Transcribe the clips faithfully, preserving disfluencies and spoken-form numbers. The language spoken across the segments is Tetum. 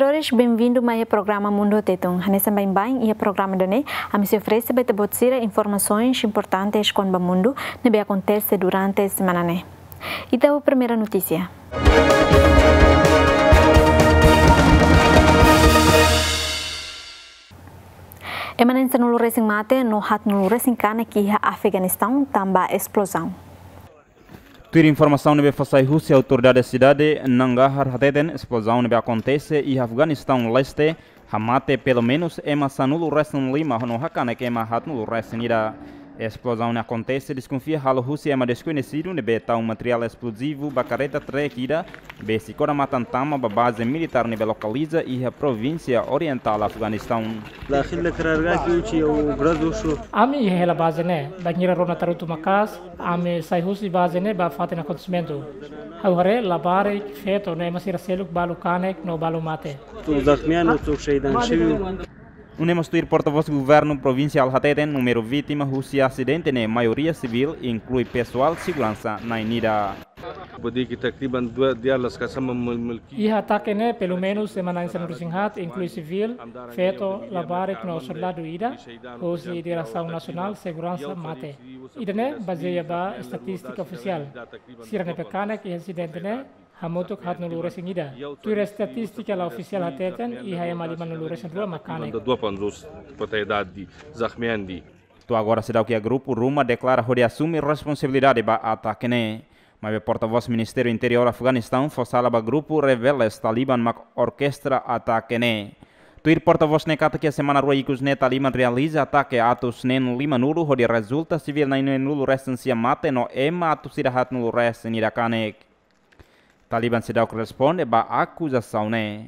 Telespetadores, benvindu mai iha programa Mundu Tetun. Hanesan baibain iha programa ida-ne'e, ami sei oferese ba ita-boot sira informasaun importante kona-ba mundu ne'ebé akontese durante semana ne'e. Ita ba primeira notísia. Ema na'in sanulu resin mate no haatnulu resin kanek iha Afeganistaun tanba esplozaun. Tuir informasaun ne'ebé fó sai husi autoridade sidade Nangarhar hateten, esplozaun ne'ebé akontese iha Afeganistaun leste hamate pelumenus ema sanulu resin lima no hakanek ema haatnulu resin ida. Esplozaun ne'e akontese, deskonfia, halo husi ema deskoñesidu ne'ebé tau materiál esplozivu ba karreta trek ida, besik ona matan tama ba baze militár ne'ebé lokaliza iha provínsia orientál Afeganistaun. Ami iha hela baze ne'e, bainhira rona tarutu maka'as, ami sai husi baze ne'e ba fatin akontesimentu. Ha'u haree labarik, feto no ema sira seluk balu kanek no balu mate. Atu zahmian, atu sheidan shiu. Nune'e mós tuir portavós governu provinsiál hateten, númeru vítima husi asidente ne'e maioria sivíl, inklui pesoál seguransa na'in ida. Iha atake ne'e, pelumenus ema na'in sanulu resin haat, inklui sivíl, feto, labarik no soldadu ida, husi Diresaun Nasionál Seguransa mate. Ida-ne'e bazeia ba estatístika ofisiál. Sira ne'ebé kanek iha asidente ne'e hamutuk haatnulu resin ida. Tuir estatístika la ofisiál hateten, iha ema limanulu resin rua mak kanek. To'o agora seidauk iha grupu ruma deklara hodi asume responsabilidade ba atake ne'e. Maibé portavós Ministériu Interiór Afeganistaun fó sala ba grupu rebeldes Taliban mak orkestra atake ne'e. Tuir portavós ne'e katak iha semana rua ikus ne'e Taliban realiza atake atus neen limanulu hodi rezulta sivíl na'in-neenulu resin sia mate no ema atus ida haatnulu resin ida kanek. Taliban seidauk responde ba akuzasaun ne'e.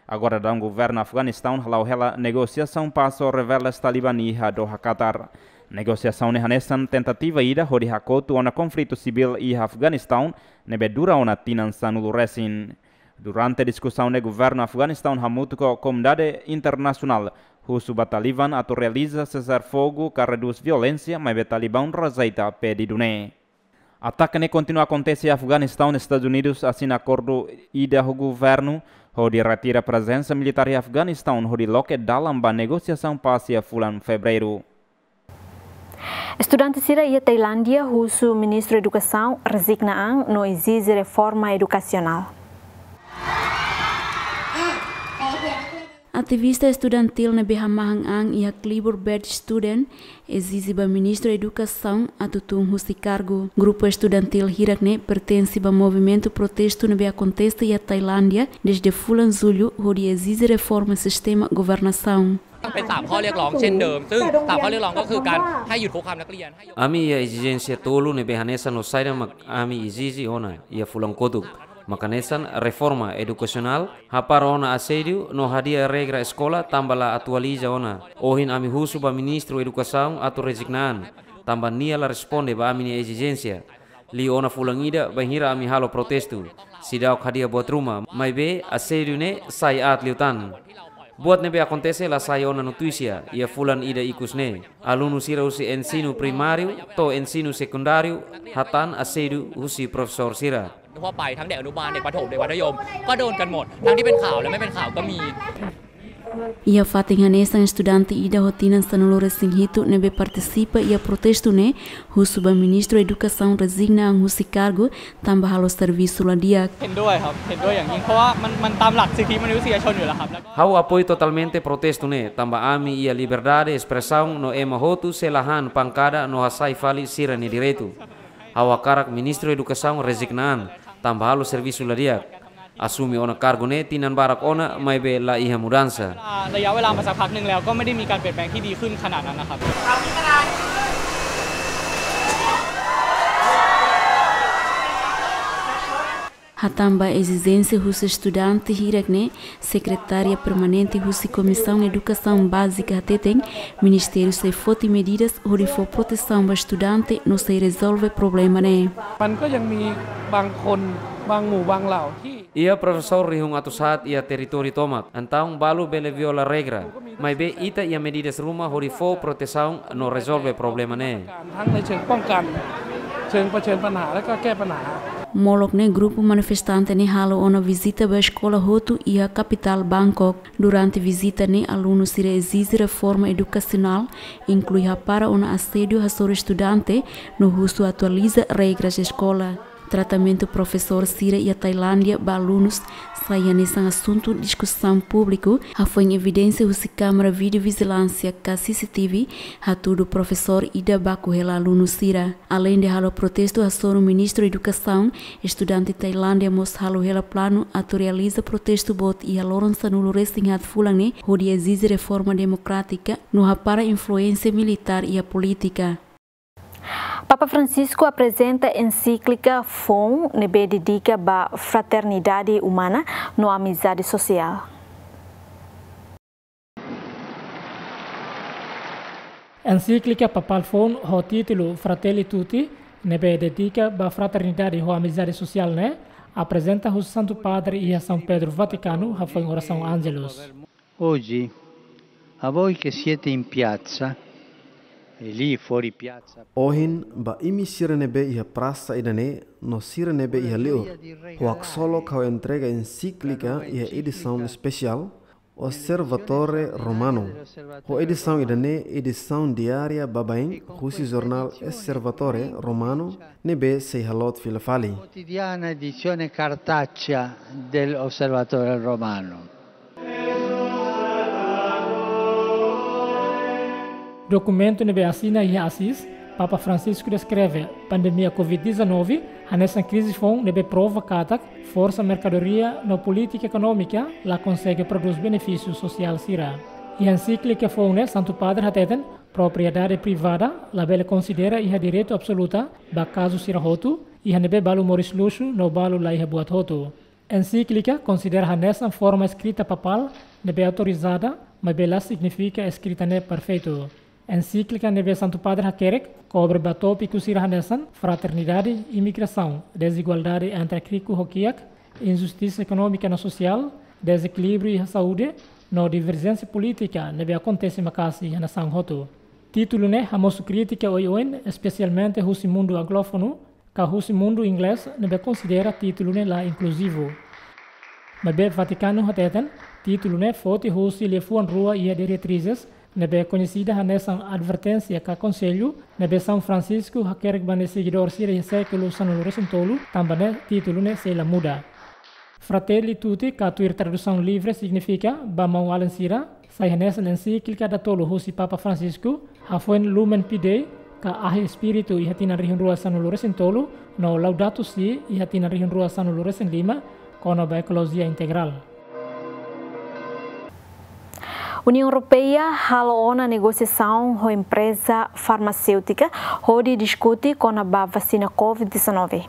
Agora daudaun governu Afeganistaun hala'o hela negosiasaun pás ho rebeldes Taliban iha Doha, Qatar. Negosiasaun ne'e hanesan tentativa ida hodi hakotu ona konflitu sivíl iha Afeganistaun ne'ebé dura ona tinan sanulu resin. Durante diskusaun ne'e governu Afeganistaun hamutuk ho komunidade internasionál husu ba Taliban atu realiza sesar-fogu ka redús violénsia, maibé Taliban rejeita pedidu ne'e. Atake ne'e kontinua akontese iha Afeganistaun, Estadus Unidus asina akordu ida ho governu hodi retira prezensa militár iha Afeganistaun hodi loke dalan ba negosiasaun pás iha fulan Fevereiru. Estudante sira iha Tailándia husu Ministru Edukasaun rezigna an no ezije reforma edukasionál. Ativista estudantíl ne'ebé hamahan an iha Khlibur Bad Student ezije ba Ministru Edukasaun atu tun husi kargu. Grupu estudantíl hirak ne'e pertense ba movimentu protestu ne'ebé akontese iha Tailándia dezde fulan Jullu hodi ezije reforma sistema governasaun. เป็นสามข้อเรียกร้องเช่นเดิม ซึ่งสามข้อเรียกร้องก็คือการให้หยุดคุกคามนักเรียน ให้ยก Ami iha ezijénsia tolu ne'ebé hanesan no saida mak ami ezije ona iha fulan kotuk. Mak hanesan reforma edukasionál, hapara ona asédiu no hadi'a regra eskola tanba la atualiza ona. Ohin ami husu ba Ministru Edukasaun atu rezigna an, tanba nia la responde ba ami-nia ezijénsia. Liu ona fulan ida bainhira ami halo protestu. Seidauk hadi'a buat ruma, maibé asédiu ne'e sai aat liután. Buat ne'ebé akontese la sai ona notísia iha fulan ida ikus ne'e. Alunu sira husi ensinu primáriu to'o ensinu sekundáriu hatán asédiu husi profesór sira. ทั่วไป ทั้งเด็กอนุบาล เด็กประถม เด็กมัธยม ก็โดนกันหมด ทั้งที่เป็นข่าวและไม่เป็นข่าวก็มี Iha fatin hanesan, estudante ida ho tinan sanulu resin hitu ne'ebé partisipa iha protestu ne'e husu ba Ministru Edukasaun rezigna an husi kargu tanba halo servisu la di'ak. เห็นด้วยครับ เห็นด้วยอย่างยิ่ง เพราะว่ามัน มันตามหลักสิทธิมนุษยชนอยู่แล้วครับ แล้วก็ Ha'u apoiu totalmente protestu ne'e, tanba ami iha liberdade espresaun no ema hotu sei la han pankada no hasai fali sira-nia direitu. Ha'u hakarak Ministru Edukasaun rezigna an, tanba halo servisu la di'ak. Asume ona kargu ne'e tinan barak ona, maibé la iha mudansa. ระยะเวลามาสักพักหนึ่งแล้ว ก็ไม่ได้มีการเปลี่ยนแปลงที่ดีขึ้นขนาดนั้นนะครับ Hatán ba ezijénsia husi estudante hirak ne'e, Sekretária Permanente husi Komisaun Edukasaun Bázika hateten, Ministériu sei foti medidas hodi fó protesaun ba estudante no sei rezolve problema ne'e. มันก็ยังมีบางคน บางหมู่ บางเหล่าที่ Iha profesór rihun atus haat iha territóriu tomak, entaun balu bele viola regra. Maibé ita iha medidas ruma hodi fó protesaun no rezolve problema ne'e. ทั้งในเชิงป้องกัน เชิงเผชิญปัญหา และก็แก้ปัญหา Molok ne'e grupu manifestante ne'e halo ona vizita ba eskola hotu iha kapitál Bangkok. Durante vizita ne'e alunu sira ezije reforma edukasionál, inklui hapara ona asédiu hasoru estudante, no husu atualiza regras eskola. Tratamentu profesór sira iha Tailándia ba alunus sai hanesan asuntu diskusaun públiku, hafoin evidénsia husi kámara vídeo vijilánsia ka C C T V hatudu profesór ida baku hela alunu sira. Aleinde halo protestu hasoru Ministru Edukasaun, estudante Tailándia mós halo hela planu atu realiza protestu boot iha loron sanulu-resin-haat fulan ne'e hodi ezije reforma demokrátika no hapara influénsia militár iha polítika. Papa Francisco aprezenta ensíklika foun ne'ebé dedika ba fraternidade umana no amizade sosiál. Ensíklika papál foun ho títulu Fratelli Tutti, ne'ebé dedika ba fraternidade ho amizade sosiál ne'e, aprezenta husi Santu Padre iha São Pedro Vaticano, hafoin orasaun Angelus. Oggi, a voi che siete in piazza e lì fuori piazza. Ohin, ba imi sira ne'ebé iha prasa ida-ne'e, no sira ne'ebé iha liur, ho haksolok ha'u entrega ensíklika iha edisaun espesiál, Osservatore Romano. Ho edisaun ida-ne'e edisaun diária baibain husi jornál Osservatore Romano ne'ebé sei haloot fila fali. Quotidiana edizione cartacea dell'Osservatore Romano. Dokumentu ne'ebé asina iha Asís, Papa Francisco deskreve pandemia covid dezanove hanesan krize foun ne'ebé prova katak forsa merkadoria no polítika ekonómika la konsege prodús benefísiu sosiál sira. Iha ensíklika foun ne'e Santu Padre hateten, propriedade privada labele konsidera iha direitu absoluta ba kazu sira hotu, iha ne'ebé balu moris luxu no balu la iha buat hotu. Ensíklika konsidera hanesan forma eskrita papál ne'ebé autorizada, maibé la signifika eskrita ne'e perfeitu. Ensíklika ne'ebé Santu Padre hakerek kobre ba tópiku sira hanesan fraternidade, imigrasaun, dezigualdade entre riku ho kiak, injustisa ekonómika no sosiál, dezekilíbriu iha saúde, no diverjénsia polítika ne'ebé akontese maka'as iha nasaun hotu. Títulu ne'e hamosu krítika oioin, espesialmente husi mundu anglófonu, ka husi mundu inglés ne'ebé konsidera títulu ne'e la inkluzivu. Maibé Vatikanu hateten, títulu ne'e foti husi liafuan rua iha diretrizes, ne'ebé koñesida hanesan adverténsia ka konsellu, ne'ebé São Francisco hakerek ba nia segidór sira iha sékulu sanulu-resin-tolu, tanba ne'e títulu ne'e sei la muda. Fratelli Tutti, ka tuir tradusaun livre, signifika ba maun-alin sira, sai hanesan ensíklika datolu husi Papa Francisco, hafoin Lumen Fidei, ka Ahi Espíritu iha tinan rihun rua sanulu-resin-tolu, no Laudato Si iha tinan rihun rua sanulu-resin-lima, kona-ba ekolojia integrál. Uniaun Europeia halo ona negosiasaun ho empreza farmaséutika hodi diskute kona-ba vasina covid dezanove.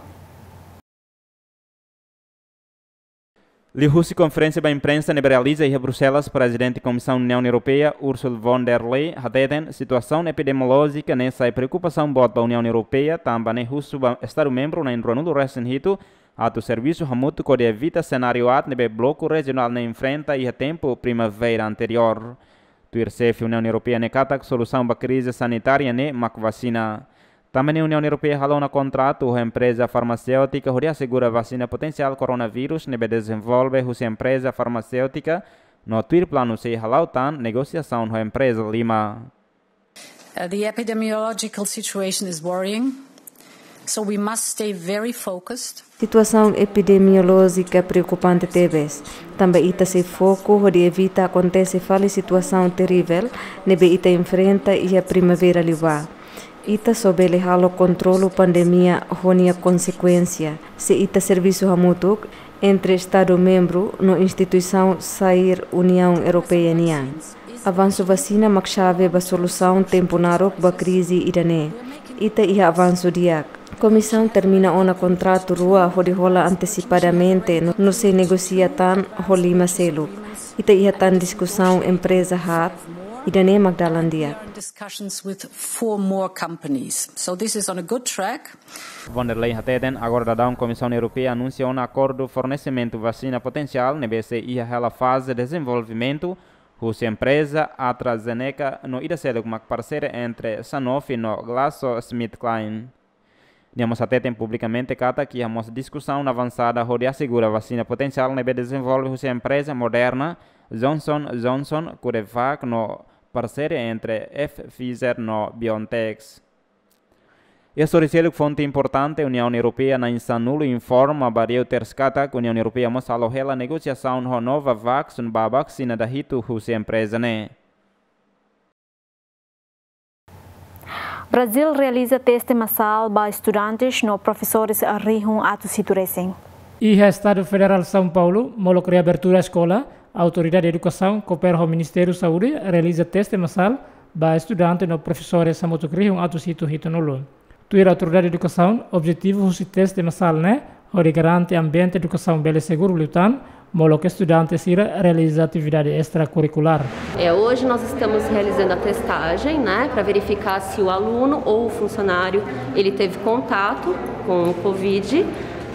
Liuhusi konferénsia ba imprensa ne'ebé realiza iha Bruxelas, Prezidente Komisaun Uniaun Europeia, Ursula von der Leyen, hateten situasaun epidemiolójika ne'e sai preokupasaun boot ba Uniaun Europeia, tanba ne'e husu ba Estadu membru na'in-ruanulu-resin-hitu atu servisu hamutuk hodi evita senáriu aat ne'ebé bloku rejionál ne'e enfrenta iha tempu primavera anteriór. Tuir xefe Uniaun Europeia ne'e katak solusaun ba krize sanitária ne'e mak vasina. Tanba ne'e Uniaun Europeia halo ona kontratu ho empreza farmaséutika hodi asegura vasina potensiál koronavírus ne'ebé dezenvolve husi empreza farmaséutika, no tuir planu sei hala'o tan negosiasaun ho empreza lima. Uh, the epidemiological situation is worrying, so we must stay very focused. Situasaun epidemiolójika preokupante tebes, tanba ita sei foku hodi evita akontese fali situasaun terivel ne'ebé ita enfrenta iha primavera liubá. Ita só bele halo kontrolu pandemia ho nia konsekuénsia se ita servisu hamutuk entre Estadu membru no instituisaun sair Uniaun Europeia nian. Avansu vasina mak xave ba solusaun tempu naruk ba krize ida-ne'e. Ita iha avansu di'ak. Komisaun termina ona kontratu rua hodi hola antesipadamente no, no sei negosia tan ho lima seluk. Ita iha tan diskusaun empreza haat, ida-ne'e mak dalan di'ak. Discussions with four more companies. So this is on a good track. Von der Leyen hateten, agora daudaun Komisaun Europeia anunsia ona akordu fornesimentu vasina potensiál ne'ebé sei iha hela faze dezenvolvimentu, husi empreza AstraZeneca no ida seluk mak parseria entre Sanofi no GlaxoSmithKline. Nia mós hateten publikamente katak iha mós diskusaun avansada hodi asegura vasina potensiál ne'ebé dezenvolve husi empreza Moderna, Johnson Johnson, CureVac no parseria entre F-Pfizer no BioNTech. Iha sorin seluk, fonte importante Uniaun Europeia na'in-sanulu informa ba Reuters katak Uniaun Europeia mós halo hela negosiasaun ho Novavax ba vasina dahitu husi empreza ne'e. Brazil realiza teste masál ba estudantes no profesores rihun atus hitu resin. Iha Estadu Federál São Paulo, molok reabertura eskola, Autoridade Edukasaun koopera ho Ministériu Saúde realiza teste masál ba estudante no profesores hamutuk rihun atus hitu hitunulu. Tuir Autoridade Edukasaun, objetivu husi teste masál ne'e hodi garante ambiente edukasaun bele seguru liután, molok estudante sira realiza atividade estrakurrikulár. É, hoje nós estamos realizando a testagem, né, pra verificar se o aluno ou o funcionário, ele teve contato com o covid,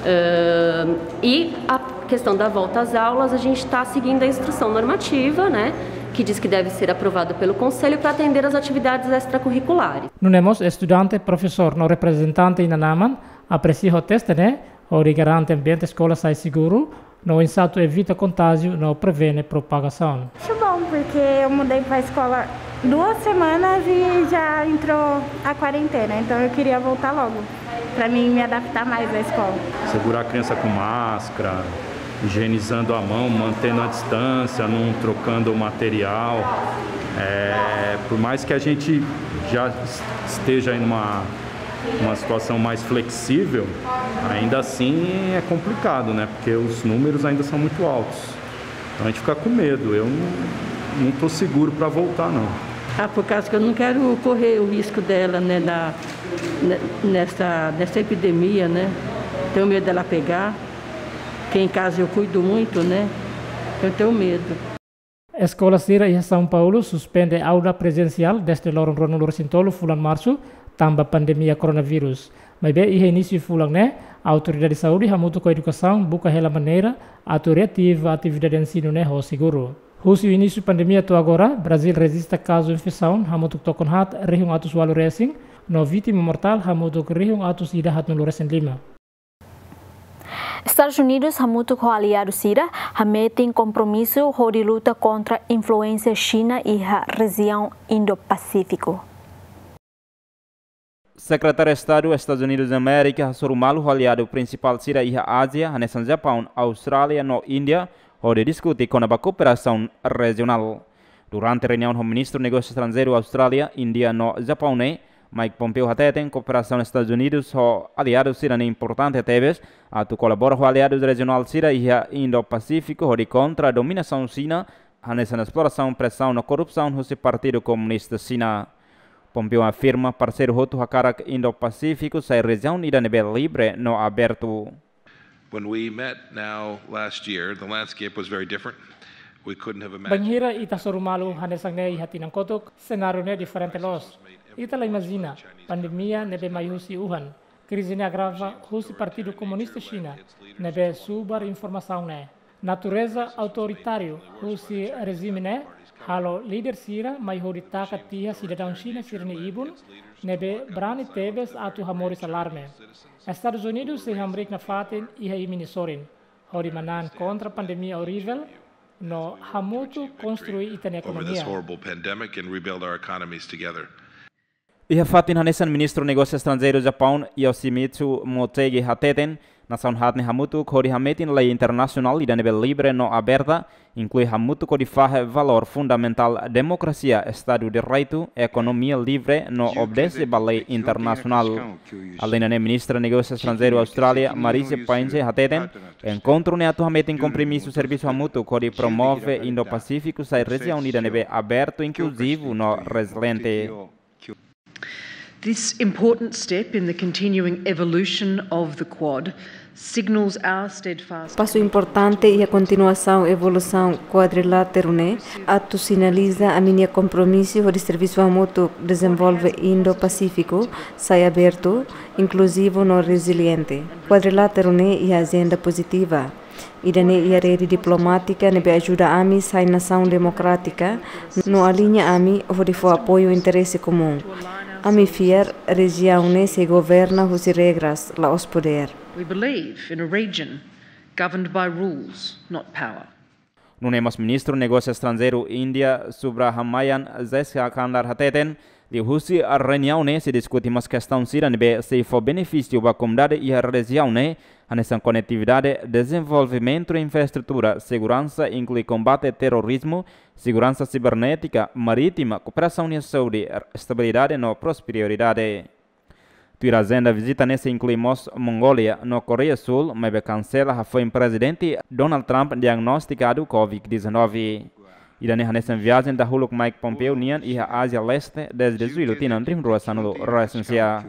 ãh, e a questão da volta às aulas, a gente tá seguindo a instrução normativa, né, que diz que deve ser aprovado pelo Conselho pra atender às atividades extracurriculares. Nune'e mós estudante, profesór no reprezentante inan-aman apresia ho teste ne'e, hodi garante ambiente eskola sai seguru, no oinsá atu evita kontájiu no prevene propagasaun. Acho bom, porque eu mudei pra escola duas semanas e já entrou a quarentena, então eu queria voltar logo, pra mim me adaptar mais à escola. Segurar a criança com máscara, higienizando a mão, mantendo a distância, não trocando o material. É, por mais que a gente já es-, esteja em uma, uma situação mais flexível, ainda assim é complicado, né? Porque os números ainda são muito altos. Então a gente fica com medo. Eu não, não tô seguro pra voltar, não. Ah, por causa que eu não quero correr o risco dela, né, da, ne-, nessa, nessa epidemia, né? Tenho medo dela pegar. Que em casa eu cuido muito, né? Eu tenho medo. Eskola sira iha São Paulo suspende aula prezensiál dezde loron ruanulu-resin-tolu fulan Marsu, tanba pandemia koronavírus. Maibé iha inísiu fulan ne'e, Autoridade Saúde hamutuk ho Edukasaun buka hela maneira atu reativa atividade ensinu ne'e ho seguru. Husi inísiu pandemia to'o agora, Brazil rejista kazu infesaun hamutuk tokon haat rihun atus ualu resin, no vítima mortál hamutuk rihun atus ida haatnulu-resin-lima. Estadus Unidus hamutuk ho aliadu sira hametin kompromisu hodi luta kontra influénsia Xina iha rejiaun Indo-Pasífiku. Sekretáriu Estadu Estadus Unidus Amérika hasoru malu ho aliadu prinsipál sira iha Ázia, hanesan Japaun, Austrália no Índia, hodi diskute kona-ba kooperasaun rejionál. Durante reuniaun ho Ministru Negósiu Estranjeiru Austrália, Índia no Japaun ne'e, Mike Pompeo hateten kooperasaun Estadus Unidus ho aliadu sira ne'e importante tebes, atu kolabora ho aliadu rejionál sira iha Indo-Pasífiku hodi kontra dominasaun Xina, hanesan esplorasaun, presaun no korrupsaun husi Partidu Komunista Xina. Pompeo afirma parseiru hotu hakarak Indo-Pasífiku sai rejiaun ida ne'ebé livre no abertu. When we met now last year, the landscape was very different. We couldn't have imagined. Bainhira ita hasoru malu hanesan ne'e iha tinan kotuk, senáriu ne'e diferente loos. Ita la imajina, pandemia ne'ebé mai husi Wuhan, krize ne'e agrava husi Partidu Komunista Xina, ne'ebé subar informasaun ne'e. Natureza autoritáriu husi rejime ne'e halo líder sira mai hodi taka tiha sidadaun Xina sira-nia ibun, ne'ebé brani tebes atu hamoris alarme. Estadus Unidus sei hamriik nafatin iha imi-nia sorin, hodi manán kontra pandemia orivel, no hamutuk konstrui ita-nia over this ekonomia. Horrible pandemic and rebuild our economies together. Iha fatin hanesan, Ministru Negósiu Estranjeiru Japaun, Yoshimitsu Motegi hateten, nasaun haat ne'e hamutuk hodi hametin lei internasionál ida ne'ebé livre no aberta, inklui hamutuk hodi fahe valór fundamentál demokrasia, Estadu Direitu, ekonomia livre no obedese ba lei internasionál. Alende ne'e, Ministra Negósiu Estranjeiru Austrália, Marise Payne hateten, enkontru ne'e atu hametin kompromisu servisu hamutuk hodi promove Indo-Pasífiku sai rejiaun ida ne'ebé abertu, inkluzivu no reziliente. This important step in the continuing evolution of the Quad signals our steadfast. Pasu importante iha kontinuasaun evolusaun kuadriláteru ne'e atu sinaliza ami-nia kompromisu hodi servisu hamutuk dezenvolve Indo-Pasífiku sai abertu, inkluzivu no reziliente. Kuadriláteru ne'e iha ajenda pozitiva. Ida-ne'e iha rede diplomátika ne'ebé ajuda ami sai nasaun demokrátika, no aliña ami hodi fó apoiu interese komún. Ami fiar rejiaun ne'e sei governa husi regras, la'ós podér. We believe in a region governed by rules, not power. Nune'e mós Ministru Negósiu Estranjeiru Índia, Subrahmanyam Jaishankar hateten, liuhusi reuniaun ne'e sei diskute mós kestaun sira ne'ebé sei fó benefísiu ba komunidade iha rejiaun ne'e, hanesan konetividade, dezenvolvimentu infraestrutura, seguransa, inklui kombate terrorizmu, seguransa sibernétika, marítima, kooperasaun iha saúde, estabilidade no prosperidade. Tuir ajenda vizita ne'e sei inklui mós Mongólia no Koreia Súl, maibé kansela hafoin Prezidente Donald Trump diagnostikadu COVID dezanove. Ida-ne'e hanesan viajen dahuluk Mike Pompeo nian iha Ázia Leste dezde Jullu tinan rihun rua sanulu resin sia.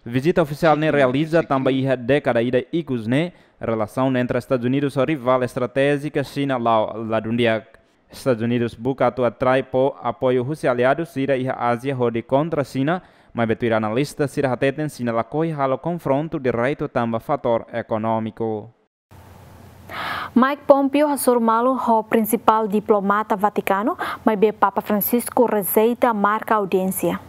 Vizita ofisiál ne'e realiza tanba iha dékada ida ikus ne'e, relasaun entre Estadus Unidus ho rivál estratéjika Xina la'o ladún di'ak. Estadus Unidus buka atu atrai apoiu husi aliadu sira iha Ázia hodi kontra Xina, maibé tuir analista sira hateten Xina lakohi halo konfrontu diretu tanba fatór ekonómiku. Mike Pompeo hasoru malu ho prinsipál diplomata Vatikanu, maibé Papa Francisco rejeita marka audiénsia.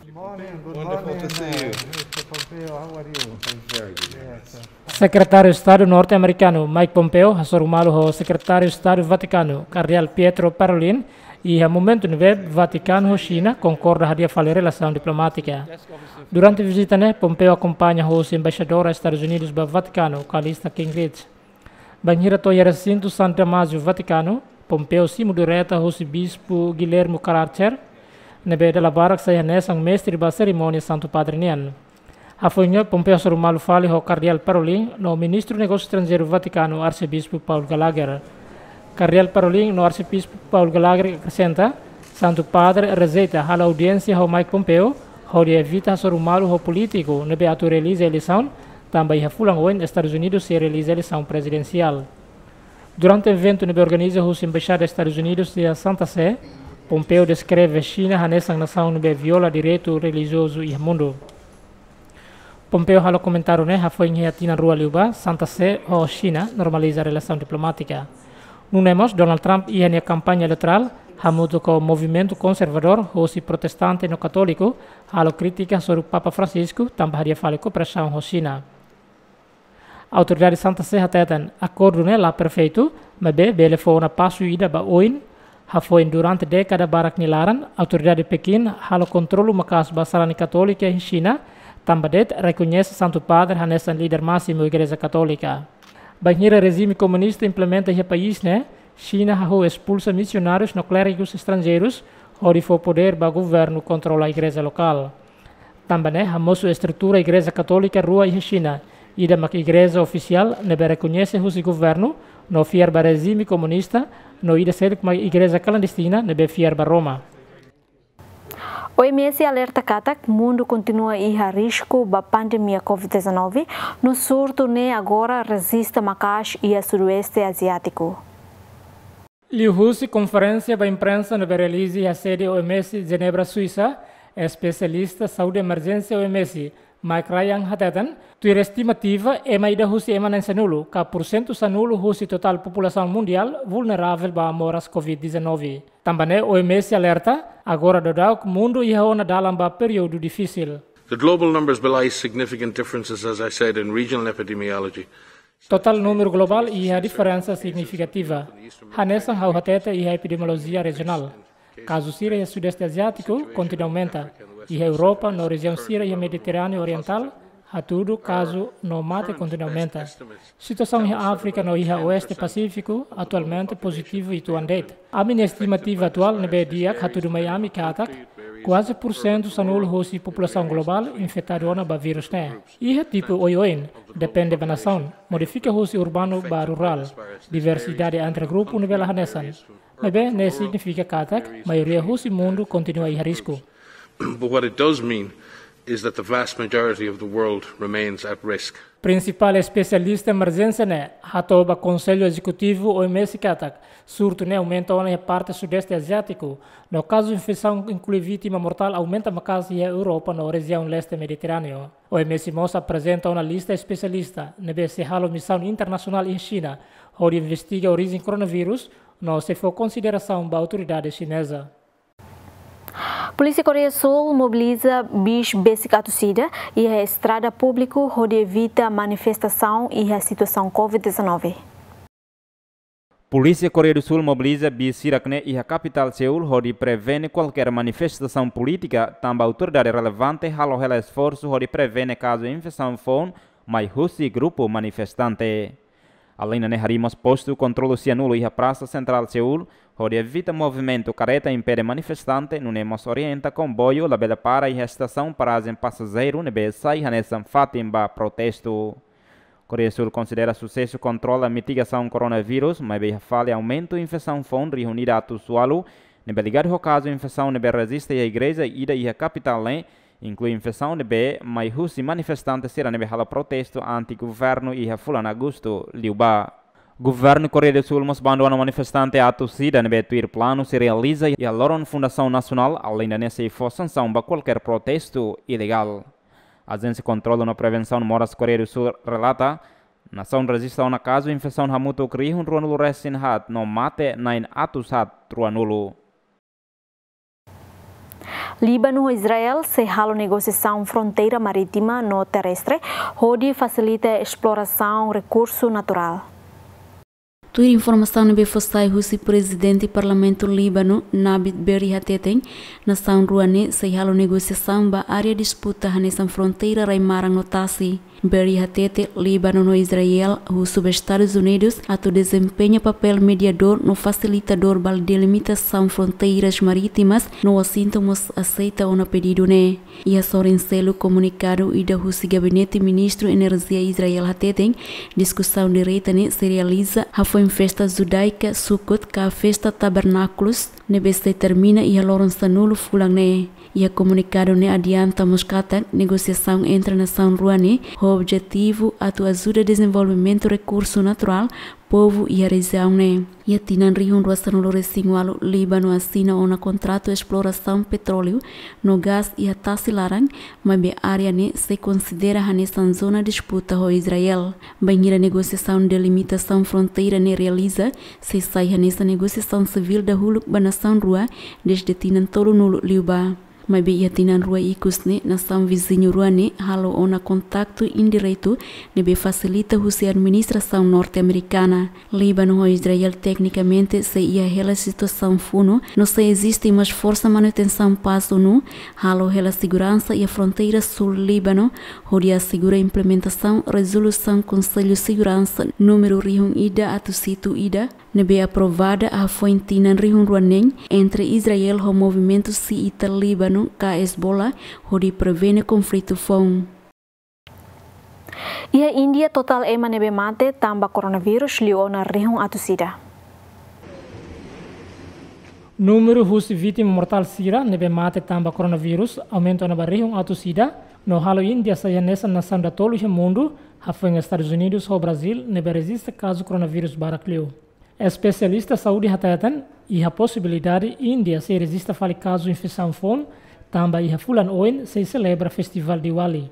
Good morning, good morning, uh, Mister Pompeo. How are you? I'm very good. Yes, sir. Sekretáriu Estadu norte-amerikanu Mike Pompeo hasoru malu ho Sekretáriu Estadu Vatikanu, Kardeál Pietro Parolin, iha momentu ne'ebé Vatikanu ho Xina konkorda hadi'a fali relasaun diplomátika. Durante vizita ne'e, Pompeo akompaña hosi Embaixadora Estadus Unidus ba Vatikanu, Callista Kingrich. Bainhira to'o iha resintu San Damásio Vatikanu, Pompeo simu direta hosi Bispu Guilherme Kratzer, ne'ebé dala barak sai hanesan mestre ba serimónia Santu Padre nian. Hafoin ne'e, Pompeo hasoru malu fali ho Kardeál Parolin no Ministru Negósiu Estranjeiru Vatikanu, Arsebispu Paul Gallagher. Kardeál Parolin no Arsebispu Paul Gallagher akresenta, Santu Padre rejeita halo audiénsia ho Mike Pompeo, hodi evita hasoru malu ho polítiku ne'ebé atu realiza eleisaun, tanba iha fulan oin Estadus Unidus sei realiza eleisaun prezidensiál. Durante eventu ne'ebé organiza husi Embaixada Estadus Unidus iha Santa Sé, Pompeo deskreve Xina hanesan nasaun ne'ebé viola direitu relijiozu iha mundu. Pompeo halo komentáriu ne'e hafoin iha tinan rua liubá Santa Sé ho Xina normaliza relasaun diplomátika. Nune'e mós Donald Trump iha nia kampaña eleitorál hamutuk ho movimentu konservadór hosi protestante no katóliku halo krítika hasoru Papa Francisco tanba hadi'a fali kooperasaun ho Xina. Autoridade Santa Sé hateten akordu ne'e la perfeitu, maibé bele fó ona pasu ida ba oin, hafoin durante dékada barak nia laran, autoridade Pekin halo kontrolu maka'as ba sarani katólika iha Xina, tanba de'it rekoñese Santu Padre hanesan líder másimu Igreja Katólika. Bainhira rejime komunista implementa iha país ne'e, Xina hahú espulsa misionárius no klérigus estranjeirus, hodi fó podér ba governu kontrola igreja lokál. Tanba ne'e hamosu estrutura Igreja Katólika rua iha Xina, ida mak igreja ofisiál ne'ebé rekoñese husi governu no fiar ba rejime komunista, no ida seluk mak igreja klandestina ne'ebé fiar ba Roma. O M S alerta katak mundu kontinua iha risku ba pandemia COVID dezanove, no surtu ne'e agora rejista maka'as iha Sudoeste Aziátiku. Liuhusi konferénsia ba imprensa ne'ebé realiza iha sede O M S Jenebra, Suisa, espesialista saúde emerjénsia O M S, Mike Ryan hateten, tuir estimativa, ema ida husi ema na'in sanulu, ka pursentu sanulu husi totál populasaun mundiál vulneravel ba moras COVID dezanove. Tanba ne'e O M S alerta, agora daudauk mundu iha ona dalan ba períodu difisil. The global numbers belie significant differences, as I said, in regional epidemiology. Totál númeru globál iha diferensa signifikativa. Hanesan ha'u hatete iha epidemiolojia rejionál. Kazu sira iha Sudeste Aziátiku kontinua aumenta. Iha Europa no rejiaun sira iha Mediterráneu Orientál, hatudu kazu no mate kontinua aumenta. Situasaun iha Áfrika no iha Oeste Pasífiku atualmente pozitivu uitoan de'it. Ami-nia estimativa atuál ne'ebé di'ak hatudu mai ami katak, kuaze pursentu sanulu husi populasaun globál infetadu ona ba vírus ne'e. Iha tipu oioin, depende ba nasaun, modifika husi urbanu ba rurál, diversidade entre grupu ne'ebé la hanesan. Maibé ne'e signifika katak maioria husi mundu kontinua iha risku. But what it does mean is that the vast majority of the world remains at risk. Prinsipál espesialista emerjénsia ne'e hato'o ba Konsellu Ezekutivu O M S katak, surtu ne'e aumenta ona iha parte Sudeste Aziátiku, no kazu infesaun inklui vítima mortál aumenta maka'as iha Europa no rejiaun Leste Mediterráneu. O M S mós aprezenta ona lista espesialista ne'ebé sei halo misaun internasionál iha Xina, hodi investiga orijen koronavírus, no sei fó konsiderasaun ba autoridade xineza. Polísia Koreia do Sul mobiliza bis besik atus ida iha estrada públiku hodi evita manifestasaun iha situasaun covid dezanove. Polísia Koreia do Sul mobiliza bis sira-ne'e iha kapitál Seul hodi prevene kualkér manifestasaun polítika, tanba autoridade relevante halo hela esforsu hodi prevene kazu infesaun foun mai husi grupu manifestante. Alende ne'e, harii mós postu kontrolu sianulu iha Prasa Sentrál Seul, hodi evita movimentu kareta impede manifestante, nune'e mós orienta komboiu labele para iha estasaun parajen pasajeiru ne'ebé sai hanesan fatin ba protestu. Koreia Sul konsidera susesu kontrola mitigasaun koronavírus, maibé iha fali aumentu infesaun foun rihun ida atus ualu, ne'ebé ligadu ho kazu infesaun ne'ebé rejista iha igreja ida iha kapitál ne'e, inklui infesaun ne'ebé mai husi manifestante sira ne'ebé halo protestu anti-governu iha fulan Agostu liubá. Governu Koreia do Sul mós bandona manifestante atus ida ne'ebé tuir planu sei realiza iha loron Fundasaun Nasionál, alende ne'e sei fó sansaun ba kualkér protestu ilegál. Ajénsia Kontrolu no Prevensaun Moras Koreia do Sul relata, nasaun rejista ona kazu infesaun hamutuk rihun ruanulu-resin-haat no mate na'in atus haat ruanulu. Líbanu ho Israel sei halo negosiasaun fronteira marítima no terrestre hodi fasilita esplorasaun rekursu naturál. Tuir informasaun ne'ebé fó sai husi Prezidente Parlamentu Líbanu, Nabih Berri hateten, nasaun rua ne'e sei halo negosiasaun ba área disputa hanesan fronteira rai-maran no tasi. Berri hatete, Líbanu no Israel husu ba Estadus Unidus atu dezempeña papél mediadór no fasilitadór ba delimitasaun fronteiras marítimas, no Washington mós aseita ona pedidu ne'e. Iha sorin seluk, komunikadu ida husi Gabinete Ministru Enerjia Israel hateten, diskusaun direta ne'e sei realiza hafoin festa judaika Sukkot ka festa Tabernákulus, ne'ebé sei termina iha loron sanulu fulan ne'e. Iha komunikadu ne'e adianta mós katak negosiasaun entre nasaun rua ne'e ho objetivu atu ajuda dezenvolvimentu rekursu naturál povu iha rejiaun ne'e. Iha tinan rihun rua sanulu-resin-ualu, Líbanu asina ona kontratu esplorasaun petróleu no gás iha tasi laran, maibé área ne'e sei konsidera hanesan zona disputa ho Israel. Bainhira negosiasaun delimitasaun fronteira ne'e realiza, sei sai hanesan negosiasaun sivíl dahuluk ba nasaun rua dezde tinan tolunulu liubá. Maibé iha tinan rua ikus ne'e, nasaun viziñu rua ne'e halo ona kontaktu indiretu ne'ebé fasilita husi administrasaun norte-amerikana. Líbanu ho Israel teknikamente sei iha hela situasaun funu, no sei eziste mós Forsa Manutensaun Pás, ONU, halo hela seguransa iha fronteira súl Líbanu, hodi asegura implementasaun rezolusaun Konsellu Seguransa númeru rihun ida atus hitu ida, ne'ebé aprovada hafoin tinan rihun rua neen entre Israel ho movimentu xiita Líbanu ka Hezbollah hodi prevene konflitu foun. Iha Índia, totál ema ne'ebé mate tanba koronavírus liu ona rihun atus ida. Númeru husi vítima mortál sira ne'ebé mate tanba koronavírus aumenta ona ba rihun atus ida, no halo Índia sai hanesan nasaun datolu iha mundu, hafoin Estadus Unidus ho Brazíl, ne'ebé rejista kazu koronavírus barak liu. Espesialista saúde hateten, iha posibilidade Índia sei rejista fali kazu infesaun foun, tanba iha fulan oin sei selebra festivál Diwali.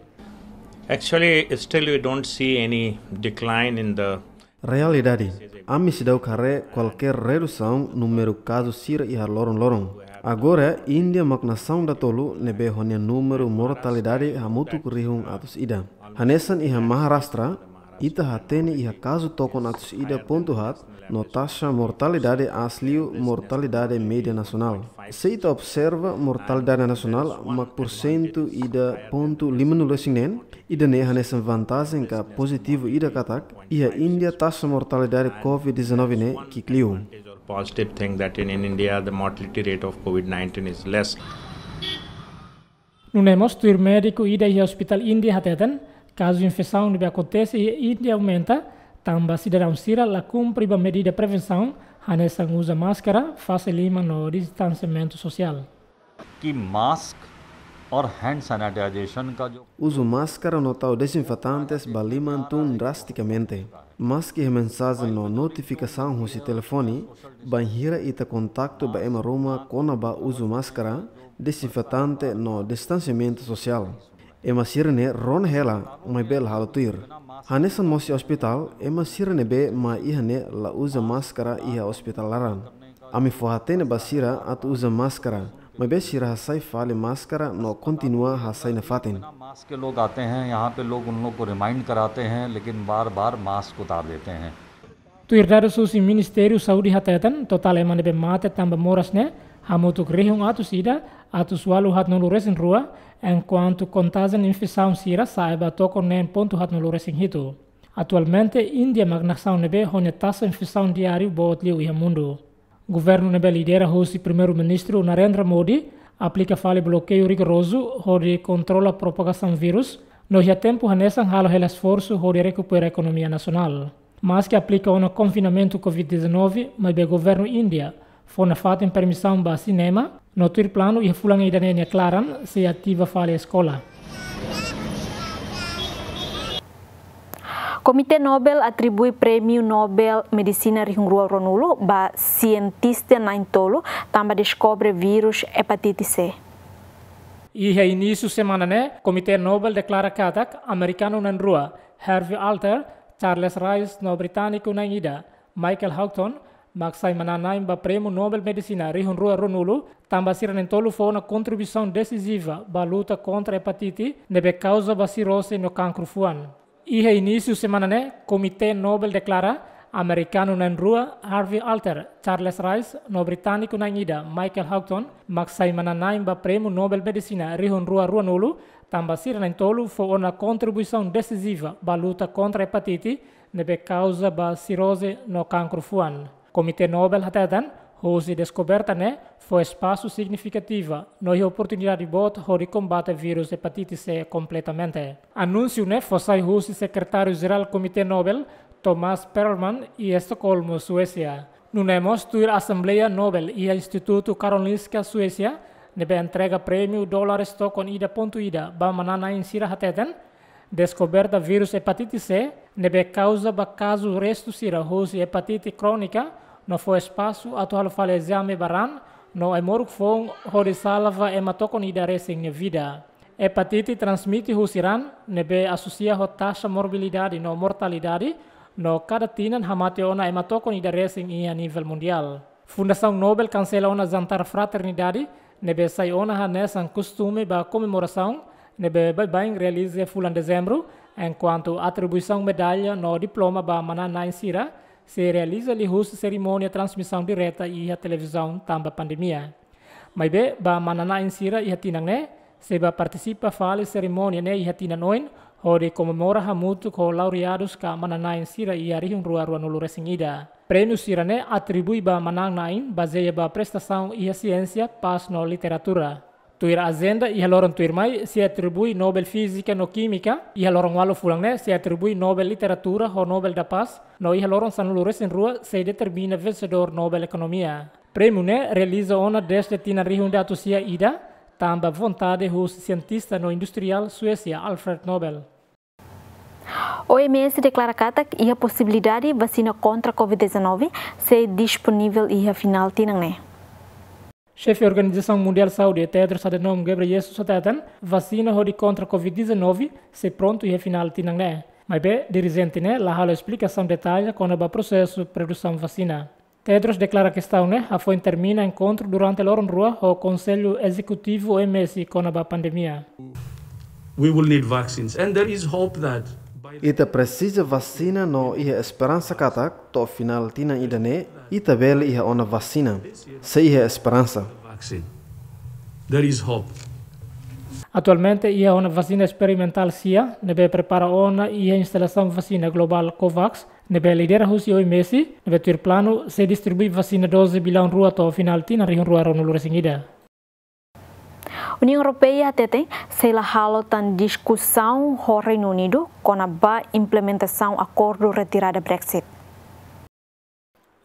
Actually, still we don't see any decline in the Realidade, ami seidauk haree kualkér redusaun númeru kazu sira iha loron-loron. Agora, Índia mak nasaun datolu ne'ebé ho nia númeru mortalidade hamutuk rihun atus ida. Hanesan iha Maharashtra, ita hatene iha kazu tokon atus ida pontu haat, no taxa mortalidade aas liu mortalidade média nasionál. Se ita observa mortalidade nasionál mak porsentu ida pontu limanulu-resin-neen, ida-ne'e hanesan vantajen ka pozitivu ida katak, iha Índia taxa mortalidade covid dezanove ne'e ki'ik liu. Positive thing that in, in India the mortality rate of covid nineteen is less. Nune'e mós tuir médiku ida iha ospitál Índia hateten, kazu infesaun ne'ebé akontese iha Índia aumenta, tanba sidadaun sira la kumpre ba medida prevensaun, hanesan uza máskara, fase liman no distansiamentu sosiál. कि मास्क और hand sanitization का जो Uzu máskara no tau dezinfetantes ba liman tun drastikamente. Maski iha mensajen no notifikasaun husi telefone, bainhira ita kontaktu ba ema ruma kona-ba uzu máskara, dezinfetante no distansiamentu sosiál. Ema sira-ne'e rona hela, maibé la halo tuir. Hanesan mós iha ospitál, ema sira ne'ebé mai iha ne'e la uza máskara iha ospitál laran. Ami fó-hatene ba sira atu uza máskara, Maibé sira hasai fali máskara no kontinua hasai nafatin. बिना मास्क के लोग आते हैं, यहाँ पे लोग उन लोग को रिमाइंड कराते हैं, लेकिन बार बार मास्क उतार देते हैं। Tuir dadus husi Ministériu Saúde hateten, totál ema ne'ebé mate tanba moras ne'e hamutuk rihun atus ida, atus ualu haat-nulu resin rua, enkuantu kontajen infesaun sira sa'e ba tokon neen pontu haat-nulu resin hitu. Atualmente, Índia mak nasaun ne'ebé ho nia taxa infesaun diáriu boot liu iha mundu. Governu ne'ebé lidera husi Primeiru-Ministru Narendra Modi aplika fali blokeiu rigorozu hodi kontrola propagasaun vírus, no iha tempu hanesan halo hela esforsu hodi rekupera ekonomia nasionál. Maski aplika ona konfinamentu covid dezanove, maibé governu Índia fó nafatin permisaun ba sinema, no tuir planu iha fulan ida-ne'e nia klaran sei ativa fali eskola. Komité Nobel atribui Prémiu Nobel Medisina rihun rua ruanulu ba sientista na'in-tolu tanba deskobre vírus epatite C. Iha inísiu semana ne'e, Komité Nobel deklara katak amerikanu na'in-rua, Harvey Alter, Charles Rice, no britániku na'in-ida, Michael Houghton, mak sai manán-na'in ba Prémiu Nobel Medisina rihun rua ruanulu, tanba sira na'in-tolu fó ona kontribuisaun desiziva ba luta kontra epatite, ne'ebé kauza ba sirose no kankru fuan. Iha inísiu semana ne'e, Komité Nobel deklara amerikanu na'in-rua, Harvey Alter, Charles Rice, no britániku na'in-ida, Michael Houghton, mak sai manán-na'in ba Prémiu Nobel Medisina rihun rua ruanulu, tanba sira na'in-tolu fó ona kontribuisaun desiziva ba luta kontra epatite, ne'ebé kauza ba sirose no kankru fuan. Komité Nobel hateten, husi deskoberta ne'e fó espasu signifikativa no iha oportunidade boot hodi kombate vírus epatite C kompletamente. Anúnsiu ne'e fó sai husi Sekretáriu Jerál Komité Nobel, Thomas Perlman, iha Estokolmu, Suésia. Nune'e mós tuir Asembleia Nobel iha Institutu Karolinska, Suésia, ne'ebé entrega prémiu dólares tokon ida pontu ida ba manán-na'in sira hateten, deskoberta vírus epatite C, ne'ebé kauza ba kazu restu sira husi epatite krónika, no fó espasu atu halo fali ezame ba raan no ai-moruk foun hodi salva ema tokon ida resin nia vida. Epatite transmite husi raan, ne'ebé asosia ho taxa morbilidade no mortalidade, no kada tinan hamate ona ema tokon ida resin iha nivel mundiál. Fundasaun Nobel kansela ona jantar fraternidade, ne'ebé sai ona hanesan kostume ba komemorasaun, ne'ebé baibain realiza fulan Dezembru, enkuantu atribuisaun medalla no diploma ba manán-na'in sira sei realiza liuhusi serimónia transmisaun direta iha televizaun tanba pandemia. Maibé, ba manán-na'in sira iha tinan ne'e, sei bá partisipa fali serimónia ne'e iha tinan oin, hodi komemora hamutuk ho laureadus ka manán-na'in sira iha rihun rua ruanulu resin ida. Prémiu sira-ne'e atribui ba manán-na'in bazeia ba prestasaun iha siénsia, pás no literatura. Tuir ajenda, iha loron tuirmai sei atribui Nobel Fízika no Kímika, iha loron ualu fulan ne'e sei atribui Nobel Literatura ho Nobel da Paz, no iha loron sanulu resin rua sei determina vensedór Nobel Ekonomia. Prémiu ne'e realiza ona dezde tinan rihun ida atus sia ida, tanba vontade husi sientista no industriál Suésia Alfred Nobel. O M S deklara katak iha posibilidade vasina kontra covid dezanove sei disponivel iha final tinan ne'e. Xefe Organizasaun Mundiál Saúde, Tedros Adhanom Ghebreyesus, hateten vasina hodi kontra covid dezanove sei prontu iha final tinan ne'e. Maibé, dirijente ne'e la halo esplikasaun detalla kona-ba prosesu produsaun vasina. Tedros deklara kestaun ne'e hafoin termina enkontru durante loron rua ho Konsellu Ezekutivu O M S kona-ba pandemia. We will need vaccines, and there is hope that by the Ita presiza vasina no iha esperansa katak to'o final tinan ida-ne'e ita bele iha ona vasina. Sei iha esperansa. Vaccine. There is hope. Atualmente iha ona vasina esperimentál sia, ne'ebé prepara ona iha instalasaun vasina globál COVAX, ne'ebé lidera husi O M S, ne'ebé tuir planu sei distribui vasina doze bilaun rua to'o final tinan rihun rua ruanulu resin ida. Uniaun Europeia hateten sei la halo tan diskusaun ho Reinu Unidu kona-ba implementasaun akordu retirada Brexit.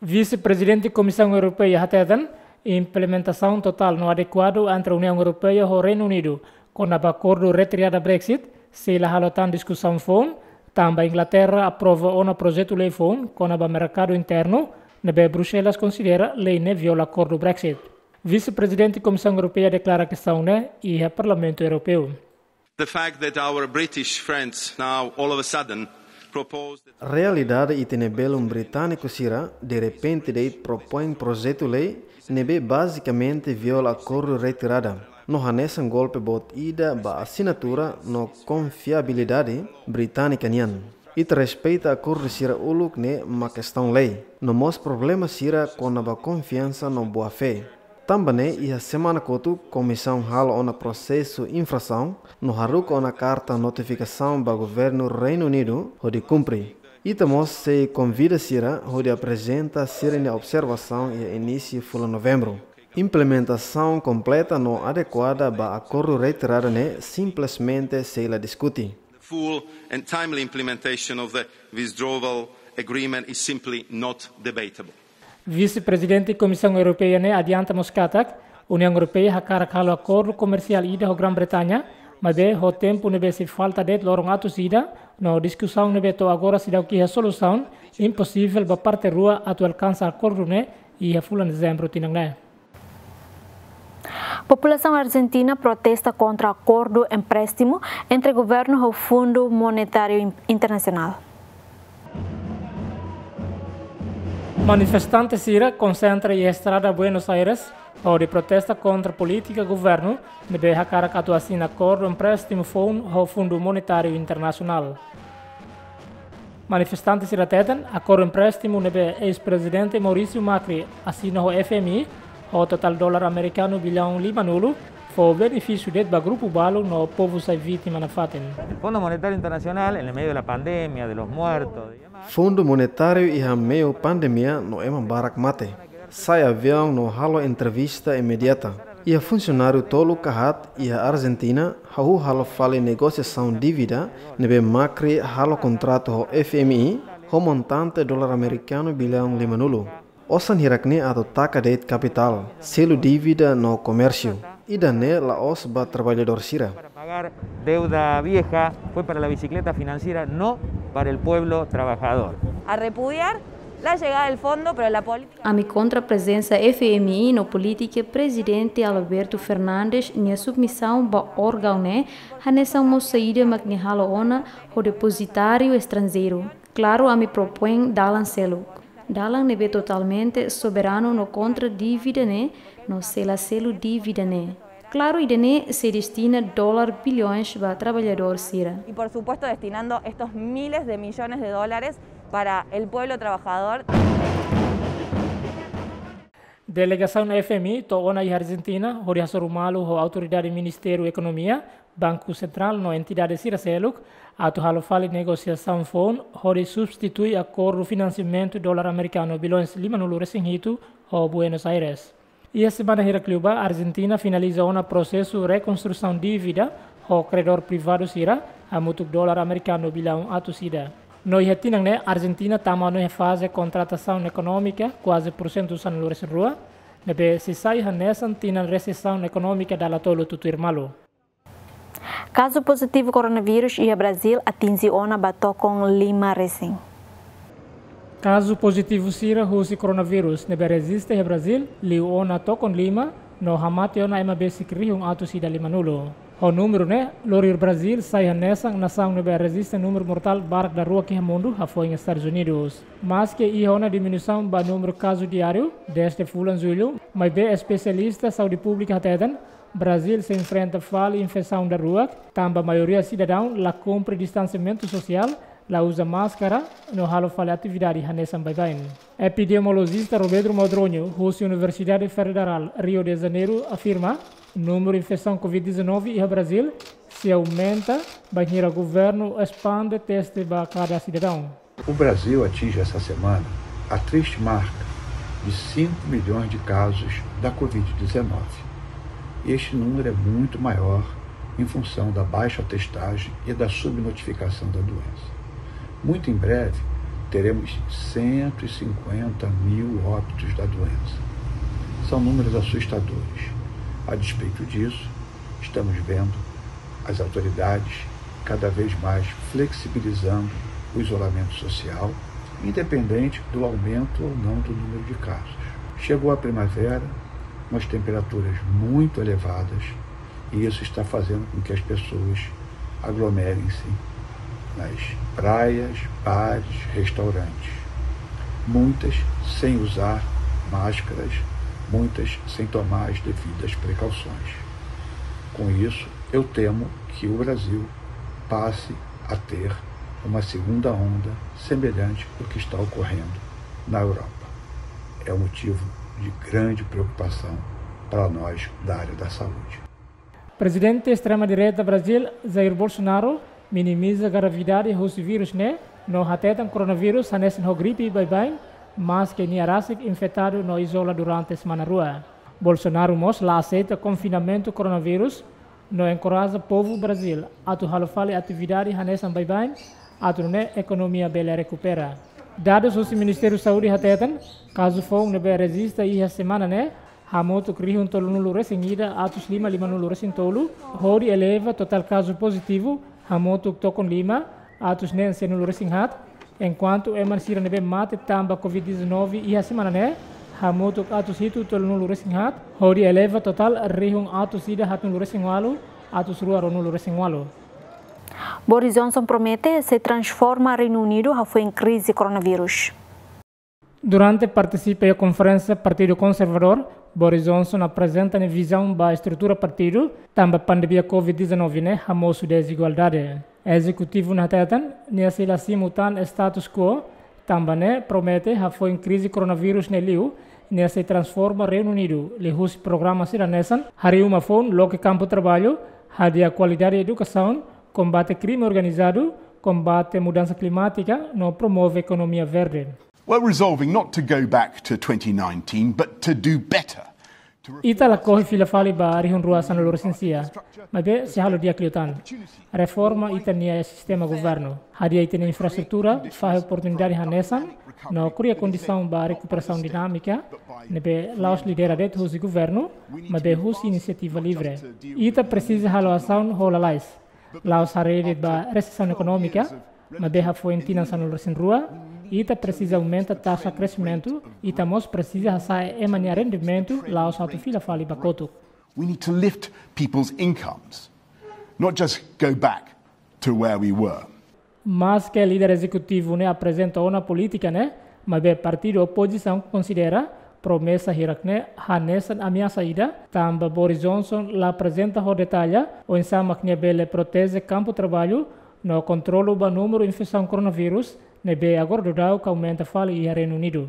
Vise-Prezidente Komisaun Europeia hateten, implementasaun totál no adekuadu entre Uniaun Europeia ho Reinu Unidu kona-ba akordu retirada Brexit sei la halo tan diskusaun foun, tanba Inglaterra aprova ona projetu lei foun kona-ba merkadu internu, ne'ebé Bruxelas konsidera lei ne'e viola akordu Brexit. Vise-Prezidente Komisaun Europeia deklara kestaun ne'e iha Parlamentu Europeu. The fact that our British friends now all of a sudden Realidade ita-nia belun britániku sira derrepente de'it propoin projetu lei ne'ebé bazikamente viola akordu retirada, no hanesan golpe boot ida ba asinatura no konfiabilidade británika nian. Ita respeita akordu sira uluk ne'e mak kestaun lei, no mós problema sira kona-ba konfiansa no boa-fé. Tanba ne'e iha semana kotuk komisaun halo ona prosesu infrasaun no haruka ona karta notifikasaun ba governu Reinu Unidu hodi kumpre. Ita mós sei konvida sira hodi aprezenta sira-nia observasaun iha inísiu fulan Novembru. Implementasaun kompleta no adekuada ba akordu retirada ne'e simplesmente sei la diskute. The full and timely implementation of the withdrawal agreement is simply not debatable. Vise-Prezidente Komisaun Europeia ne'e adianta mós katak Uniaun Europeia hakarak halo akordu komersiál ida ho Grã-Bretaña, maibé ho tempu ne'ebé sei falta de'it loron atus ida, no diskusaun ne'ebé to'o agora seidauk iha solusaun, imposivel ba parte rua atu alkansa akordu ne'e iha fulan Dezembru tinan ne'e. Populasaun Arjentina protesta kontra akordu empréstimu entre governu ho Fundu Monetáriu In-, Internasionál. Manifestante sira konsentra iha estrada Buenos Aires hodi protesta kontra polítika governu ne'ebé hakarak atu asina akordu empréstimu foun ho Fundu Monetáriu Internasionál. Manifestante sira hateten, akordu empréstimu ne'ebé eis-prezidente Maurício Macri asina ho F M I, ho totál dolar amerikanu billaun limanulu, fó benefísiu de'it ba grupu balu no povu sai vítima nafatin. El Fondo Monetario Internacional, en el medio de la pandemia, de los muertos y demás. Fundu Monetáriu iha meiu pandemia no ema barak mate, sa'e aviaun no halo entrevista imediata. Iha funsionáriu tolu ka haat iha Arjentina hahú halo fali negosiasaun dívida ne'ebé Macri halo kontratu ho F M I ho montante dolar amerikanu billaun limanulu. Osan hirak-ne'e atu taka de'it kapitál, selu dívida no komérsiu. Ida-ne'e la'ós ba traballadór sira. Para pagar deuda vieja, fue para la bicicleta financiera, no para el pueblo trabajador. A repudiar la llegada del fondo, pero la política... Ami kontra prezensa F M I no polítika Prezidente Alberto Fernandes nia submisaun ba órgaun ne'e, hanesan mós saida mak nia halo ona ho depozitáriu estranjeiru. Klaru, ami propoin dalan seluk. Dalan ne'ebé totalmente soberanu no kontra dívida ne'e, no sei la selu dívida ne'e. Klaru, ida-ne'e sei destina dolar bilhões ba traballadór sira. Y por supuesto destinando estos miles de millones de dólares para el pueblo trabajador. Delegasaun F M I to'o ona iha Arjentina, hodi hasoru malu ho autoridade Ministériu Ekonomia, Banku Sentrál no entidade sira seluk, atu halo fali negosiasaun foun, hodi substitui akordu finansiamentu dolar amerikanu bilhões limanulu resin hitu ho Buenos Aires. Iha semana hirak liubá, Arjentina finaliza ona prosesu rekonstrusaun dívida ho kredór privadu sira, hamutuk dolar amerikanu billaun atus ida. No iha tinan ne'e, Arjentina tama ona iha faze kontratasaun ekonómika kuaze porsentu sanulu resin rua, ne'ebé sei sai hanesan tinan resesaun ekonómika dala tolu tutuir malu. Kazu pozitivu koronavírus iha Brazíl atinje ona ba tokon lima resin. Kazu pozitivu sira husi koronavírus ne'ebé rejista iha Brazíl liu ona tokon lima, no hamate ona ema besik rihun atus ida limanulu. Ho númeru ne'e, lori Brazíl sai hanesan nasaun ne'ebé rejista númeru mortál barak daruak iha mundu, hafoin Estadus Unidus. Maske iha ona diminuisaun ba númeru kazu diáriu dezde fulan Jullu, maibé espesialista saúde públika hateten, Brazíl sei enfrenta fali infesaun daruak, tanba maioria sidadaun la kumpre distansiamentu sosiál, la uza máskara, no halo fali atividade hanesan baibain. Epidemiolojista Robedro Modronho, husi Universidade Federal Rio de Janeiro, afirma, númeru infesaun covid dezanove iha Brazíl sei aumenta, bainhira governu espande teste ba kada sidadaun. O Brasil atinge essa semana a triste marca de cinco milhões de casos da covid dezanove. E este número é muito maior em função da baixa testagem e da subnotificação da doença. Muito em breve, teremos cento e cinquenta mil óbitos da doença. São números assustadores. A despeito disso, estamos vendo as autoridades cada vez mais flexibilizando o isolamento social, independente do aumento ou não do número de casos. Chegou a primavera, umas temperaturas muito elevadas, e isso está fazendo com que as pessoas aglomerem-se nas praias, bares, restaurantes, muitas sem usar máscaras, muitas sem tomar as devidas precauções. Com isso, eu temo que o Brasil passe a ter uma segunda onda semelhante ao que está ocorrendo na Europa. É um motivo de grande preocupação para nós da área da saúde. Prezidente estrema-direita Brazil, Jair Bolsonaro, minimiza gravidade husi vírus ne'e, no hateten koronavírus hanesan ho gripe baibain, maske nia rasik infetadu no izola durante semana rua. Bolsonaro mós la aseita konfinamentu koronavírus, no enkoraja povu Brazil atu halo fali atividade hanesan baibain, atu nune'e ekonomia bele rekupera. Dadus husi Ministériu Saúde hateten, kazu foun ne'ebé rejista iha semana ne'e, hamutuk rihun tolunulu resin ida atus lima limanulu resin tolu, hodi eleva totál kazu pozitivu, hamutuk tokon lima, atus neen sianulu resin haat, enkuantu ema sira ne'ebé mate tanba covid dezanove iha semana ne'e, hamutuk atus hitu tolunulu resin haat, hodi eleva totál rihun atus ida haatnulu resin ualu, atus rua ruanulu resin ualu. Boris Johnson promete sei transforma Reinu Unidu hafoin krize koronavírus. Durante partisipa iha konferénsia Partidu Konservadór, Boris Johnson aprezenta nia vizaun ba estrutura partidu, tanba pandemia covid dezanove ne'e hamosu dezigualdade. Ezekutivu ne'e hateten, nia sei la simu tan status quo, tanba ne'e promete hafoin krize koronavírus ne'e liu, nia sei transforma Reinu Unidu, liuhusi programa sira hanesan, harii uma foun loke kampu traballu, hadi'a kualidade edukasaun, kombate krime organizadu, kombate mudansa klimátika, no promove ekonomia verde. We're resolving not to go back to twenty nineteen, but to do better. Ita lakohi fila fali ba rihun rua sanulu resin sia, maibé sei halo di'ak liután. Reforma ita-nia sistema governu, hadi'a ita-nia infraestrutura, fahe oportunidade hanesan, no kria kondisaun ba rekuperasaun dinámika, ne'ebé la'ós lidera de'it husi governu, maibé husi inisiativa livre. Ita presiza halo asaun ho lalais. La'ós haree de'it ba resesaun ekonómika, maibé hafoin tinan sanulu resin rua, ita presiza aumenta taxa kresimentu, ita mós presiza hasa'e ema nia rendimentu, la'ós atu fila fali ba kotuk. We need to lift people's incomes, not just go back to where we were. Maske líder ezekutivu ne'e aprezenta ona polítika ne'e, maibé partidu opozisaun konsidera promesa hirak ne'e hanesan ameasa ida, tanba Boris Johnson la aprezenta ho detalle oinsá mak nia bele proteje kampu traballu no kontrolu ba númeru infesaun koronavírus, ne'ebé agora daudaun aumenta fali iha Reinu Unidu.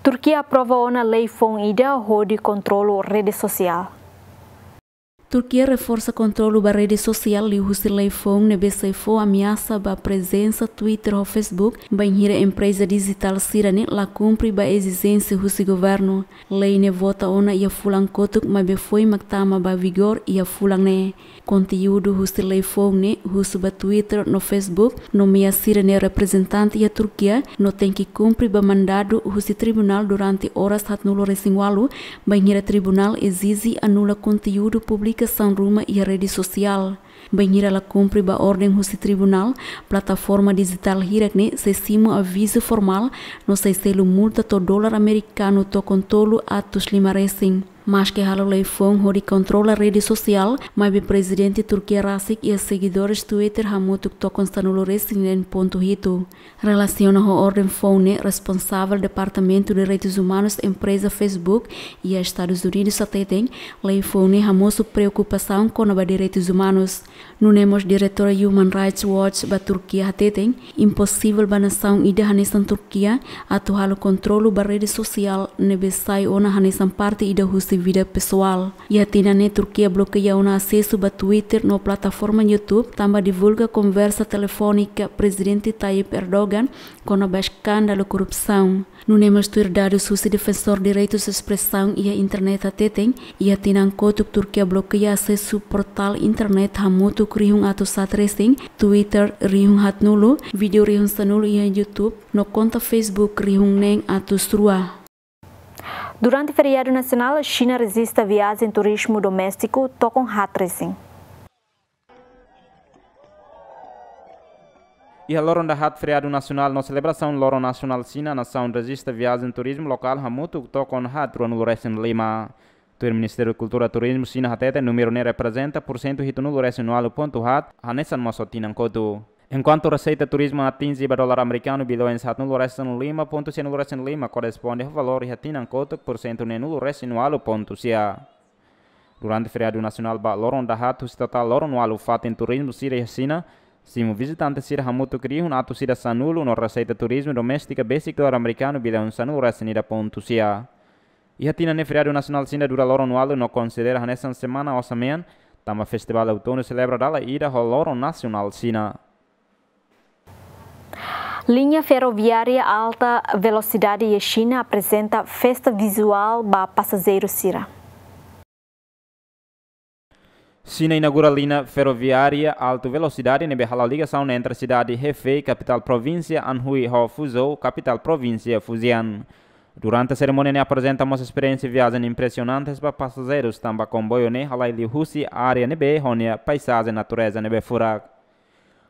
Turkia aprova ona lei foun ida hodi kontrolu rede sosiál. Turkia reforsa kontrolu ba rede sosiál liuhusi lei foun ne'ebé sei fó ameasa ba prezensa Twitter ho Facebook, bainhira empreza dijitál sira-ne'e la kumpre ba ezijénsia husi governu. Lei ne'e vota ona iha fulan kotuk, maibé foin mak tama ba vigór iha fulan ne'e. Konteúdu husi lei foun ne'e husu ba Twitter no Facebook, nomeia sira-nia reprezentante iha Turkia, no tenke kumpre ba mandadu husi tribunál durante oras haatnulu resin ualu, bainhira tribunál ezije anula konteúdu publikasaun ruma iha rede sosiál. Bainhira la kumpre ba orden husi tribunál, plataforma dijitál hirak ne'e sei simu avizu formál, no sei selu multa to'o dolar amerikanu tokon tolu atus lima resin. Maske halo lei foun hodi kontrola rede sosiál, maibé prezidente Turkia rasik iha segidores Twitter hamutuk tokon sanulu resin neen pontu hitu. Relasiona ho orden foun ne'e, responsavel Departamentu Direitus Umanus empreza Facebook iha Estadus Unidus hateten, lei foun ne'e hamosu preokupasaun kona-ba direitus umanus. Nune'e mós diretora Human Rights Watch ba Turkia hateten, imposivel ba nasaun ida hanesan Turkia atu halo kontrolu ba rede sosiál ne'ebé sai ona hanesan parte ida husi vida pesoál. Iha tinan ne'e Turkia blokeia ona asesu ba Twitter no plataforma YouTube, tanba divulga konversa telefónika Prezidente Tayyip Erdogan kona-ba eskándalu korrupsaun. Nune'e mós tuir dadus husi Defensór Direitus Espresaun iha Internet hateten, iha tinan kotuk Turkia blokeia asesu portál internet hamutuk rihun atus haat resin, Twitter rihun haatnulu, vídeo rihun sanulu iha YouTube, no konta Facebook rihun neen atus rua. Durante feriadu nasionál, Xina rejista viajen turizmu doméstiku tokon haat resin. Iha loron dahaat feriadu nasionál no selebrasaun Loron Nasionál Xina, nasaun rejista viajen turizmu lokál hamutuk tokon haat ruanulu resin lima. Tuir Ministériu Kultura Turizmu Xina hateten númeru ne'e reprezenta pursentu hitunulu resin ualu pontu haat, hanesan mós ho tinan kotuk. Enkuantu reseita turizmu atinje ba dolar amerikanu bilioens haatnulu resin lima pontu sianulu resin lima, korresponde ho valór iha tinan kotuk pursentu neenulu resin ualu pontu sia. Durante feriadu nasionál ba loron dahaat, husi totál loron ualu, fatin turizmu sira iha Xina simu vizitante sira hamutuk rihun atus ida sanulu no reseita turizmu doméstika besik dolar amerikanu bilioens sanulu resin ida pontu sia. Iha tinan ne'e feriadu nasionál Xina dura loron ualu no konsidera hanesan semana osan-mean, tanba festivál outono selebra dala ida ho loron nasionál Xina. Linha feroviária alta velosidade iha Xina aprezenta festa vizuál ba pasajeiru sira. Xina inaugura linha feroviária alta velosidade ne'ebé hala'o ligasaun entre sidade Hefei, kapitál provínsia Anhui, ho Fuzhou, kapitál provínsia Fujian. Durante serimónia ne'e aprezenta mós esperiénsia viajen impresionante ba pasajeirus, tanba komboiu ne'e halai liu husi área ne'ebé ho nia paizajen natureza ne'ebé furak.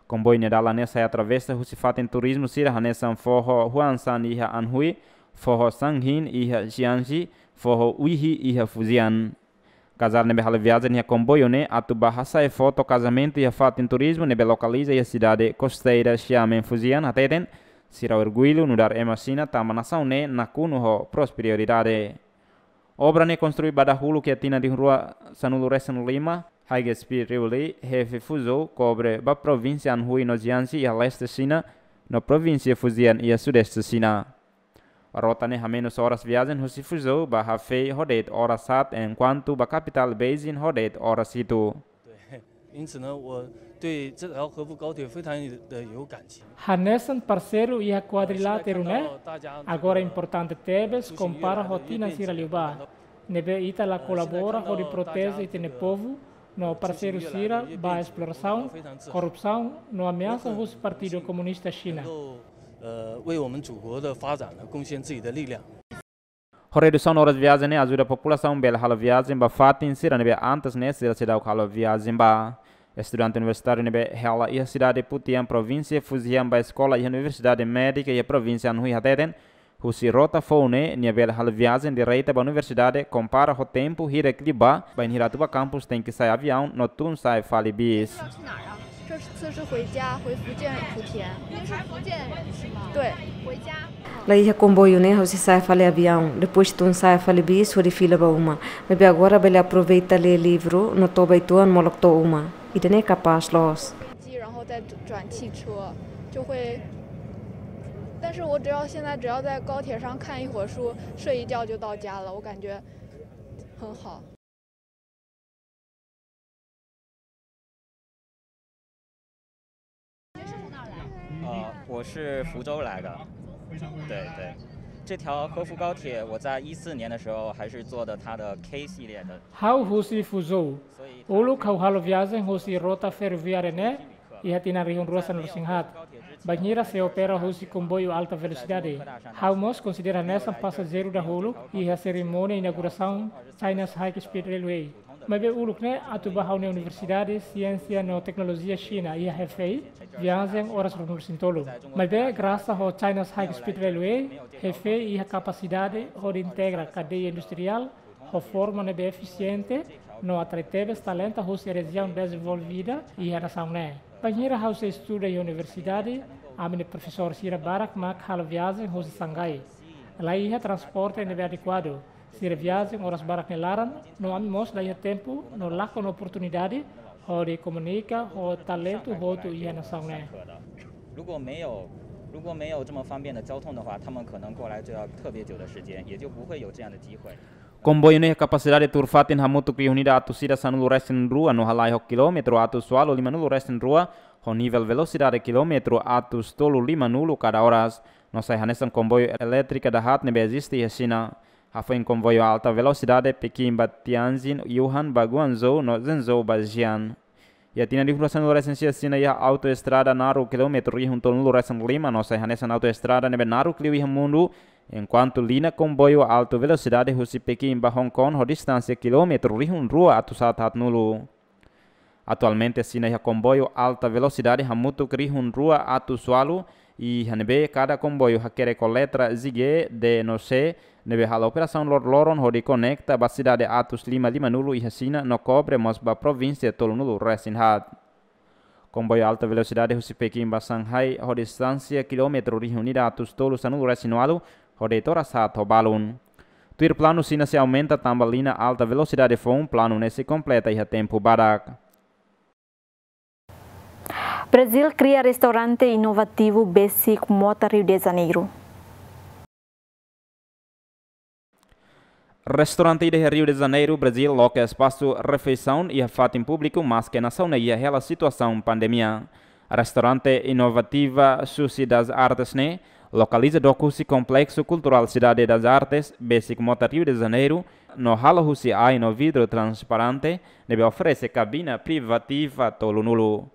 Komboiu nia dalan ne'e sai atravesa husi fatin turizmu sira hanesan foho Huangshan iha Anhui, foho Shanghin iha Jiangxi, foho Wuihe iha Fujian. Kazál ne'ebé halo viajen iha komboiu ne'e atu bá hasai foto kazamentu iha fatin turizmu ne'ebé lokaliza iha sidade kosteira Xiamen Fujian hateten, sira orgullu nu'udar ema Xina tanba nasaun ne'e nakonu ho prosperidade. Obra ne'e konstrui ba dahuluk iha tinan rihun rua sanulu resin lima, High Speed Railway, Hefei Fuzhou, kobre ba provínsia Anhui no Jiangxi iha leste Xina, no provínsia Fujian iha sudeste Xina. Rota ne'e hamenus oras viajen husi Fuzhou ba Hefei ho de'it oras haat, enkuantu ba kapitál Beijing ho de'it oras hitu. 因此呢，我对这条合福高铁非常的有感情。 Hanesan parseiru iha kuadriláteru ne'e, agora importante tebes kompara ho tinan sira liubá, ne'ebé ita la kolabora hodi proteje ita-nia povu, no parseiru sira ba esplorasaun, korrupsaun, no ameasa husi Partidu Komunista Xina. 呃，为我们祖国的发展呢贡献自己的力量。 Ho redusaun oras viajen ne'e ajuda populasaun bele halo viajen ba fatin sira ne'ebé antes ne'e sira seidauk halo viajen ba. Estudante universitáriu ne'ebé hela iha sidade Putian, provínsia Fujian, ba eskola iha Universidade Médika iha provínsia Anhui hateten, husi rota foun ne'e nia bele halo viajen direta ba universidade, kompara ho tempu hirak liubá, bainhira atu ba kampus tenke sa'e aviaun no tun sa'e fali bis. 这次是回家，回福建莆田。您是福建人是吗？对，回家。 Laiha komboiu ne'e ha'u sei sa'e fali aviaun, depois tun sa'e fali bis hodi fila ba uma. Maibé agora bele aproveita lee livru no to'o ba uitoan molok to'o uma. Ida-ne'e kapás loos. 机，然后再转汽车，就会，但是我只要现在只要在高铁上看一会儿书，睡一觉就到家了，我感觉很好。 呃，我是福州来的。对，对。这条合福高铁，我在一四年的时候还是坐的它的 K 系列的。 Ha'u husi Fuzhou. Uluk ha'u halo viajen husi rota feroviária ne'e iha tinan rihun rua sanulu resin haat, bainhira sei opera husi komboiu alta velosidade. Ha'u mós konsidera hanesan pasajeiru dahuluk iha serimónia inaugurasaun China's High Speed Railway. Maibé uluk ne'e atu ba ha'u-nia Universidade Siénsia no Teknolojia Xina iha Hefei, viajen oras ruanulu resin tolu. Maibé grasa ho China's High Speed Railway, Hefei iha kapasidade hodi integra kadeia industriál ho forma ne'ebé efisiente no atrai tebes talentu husi rejiaun dezenvolvida iha nasaun ne'e. Bainhira ha'u sei estuda iha universidade, ami-nia profesór sira barak mak halo viajen husi Xangai. Laiha transporte ne'ebé adekuadu, sira viajen oras barak nia laran, no ami mós laiha tempu no lakon oportunidade hodi komunika ho talentu hotu iha nasaun ne'e. 如果没有，如果没有这么方便的交通的话，他们可能过来就要特别久的时间，也就不会有这样的机会。 Komboiu ne'e kapasidade tuur fatin hamutuk rihun ida atus ida sanulu resin rua no halai ho kilómetru atus ualu limanulu resin rua, ho nivel velosidade kilómetru atus tolu limanulu kada oras. No sai hanesan komboiu elétrika dahaat ne'ebé eziste iha Xina. Hafoin komboiu alta velosidade Pekin ba Tianjin, Wuhan ba Guangzhou, no Zhengzhou ba Xi'an. Iha tinan rihun rua sanulu resin sia, Xina iha autoestrada naruk kilómetru rihun tolunulu resin lima no sai hanesan autoestrada ne'ebé naruk liu iha mundu, enkuantu liña komboiu alta velosidade husi Pekin ba Hong Kong ho distánsia kilómetru rihun rua atus haat haatnulu. Atualmente Xina iha komboiu alta velosidade hamutuk rihun rua atus ualu, Iha ne'ebé kada komboiu hakerek ho letra Z G, D no C, ne'ebé halo operasaun loroloron hodi konekta ba sidade atus lima limanulu iha Xina no kobre mós ba provínsia tolunulu resin haat. Komboiu alta velosidade husi Pekin ba Shanghai ho distánsia kilómetru rihun ida atus tolu sanulu resin ualu, ho de'it oras haat ho balun. Tuir planu, Xina sei aumenta tanba liña alta velosidade foun, planu ne'e sei kompleta iha tempu badak. Brazil kria restaurante inovativu besik mota Rio de Janeiro. Restaurante ida iha Rio de Janeiro, Brazil, loke espasu refeisaun iha fatin públiku, maske nasaun ne'e iha hela situasaun pandemia. Restaurante inovativa Sushi das Artes ne'e lokaliza dook husi Complexo Cultural Cidade das Artes, besik mota Rio de Janeiro, no halo husi ain no vidru transparente, ne'ebé oferese kabina privativa tolunulu.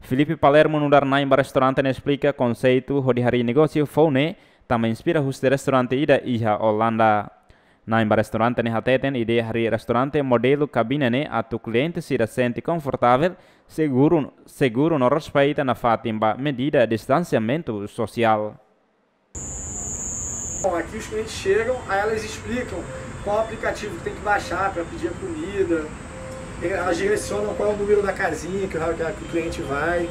Filipe Palermo, nu'udar na'in ba restaurante ne'e, esplika konseitu hodi harii negósiu foun ne'e tanba inspira husi restaurante ida iha Olanda. Na'in ba restaurante ne'e hateten ideia harii restaurante modelu kabina ne'e atu kliente sira sente konfortavel, seguru, seguru no respeita nafatin ba medida distansiamentu sosiál. Bom, aqui os clientes chegam, aí elas explicam qual aplicativo que tem que baixar para pedir a comida, elas direcionam qual é o número da casinha que o, que o cliente vai.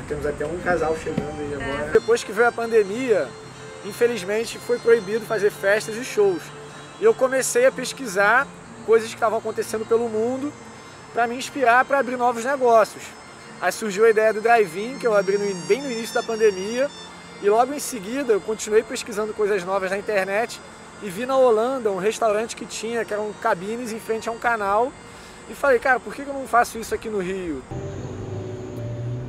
Temos até um casal chegando aí agora. Depois que veio a pandemia, infelizmente foi proibido fazer festas e shows. E eu comecei a pesquisar coisas que estavam acontecendo pelo mundo para me inspirar para abrir novos negócios. Aí surgiu a ideia do drive-in, que eu abri no in-, bem no início da pandemia, e logo em seguida eu continuei pesquisando coisas novas na internet e vi na Holanda um restaurante que tinha, que eram cabines em frente a um canal, e falei, cara, por que que eu não faço isso aqui no Rio?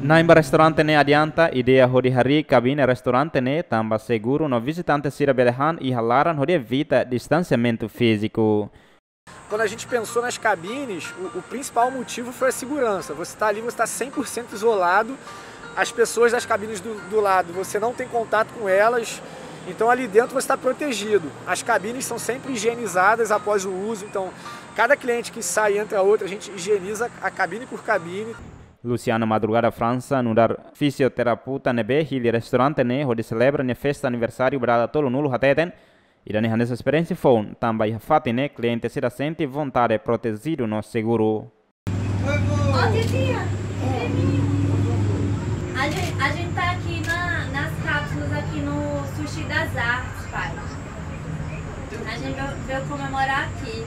Na'in ba restaurante ne'e adianta ideia hodi harii kabina restaurante ne'e tanba seguru no vizitante sira bele han iha laran hodi evita distansiamentu fíziku. Quando a gente pensou nas cabines, o, o principal motivo foi a segurança. Você tá ali, você tá cem por cento isolado. As pessoas das cabines do, do lado, você não tem contato com elas. Então, ali dentro você tá protegido. As cabines são sempre higienizadas após o uso. Então, cada cliente que sai e entra outro, a gente higieniza a cabine por cabine. Luciana Madrugada França, nu'udar fisioterapeuta ne'ebé hili restaurante ne'e hodi selebra nia festa aniversáriu ba dala tolunulu, hateten, ida-ne'e hanesan esperiénsia foun tanba iha fatin ne'e kliente sira sente vontade, protejidu no seguru. Ó, titia, creminho. A gente, a gente tá aqui na, nas cápsulas, aqui no Sushi das Artes, pai. A gente veio, veio comemorar aqui.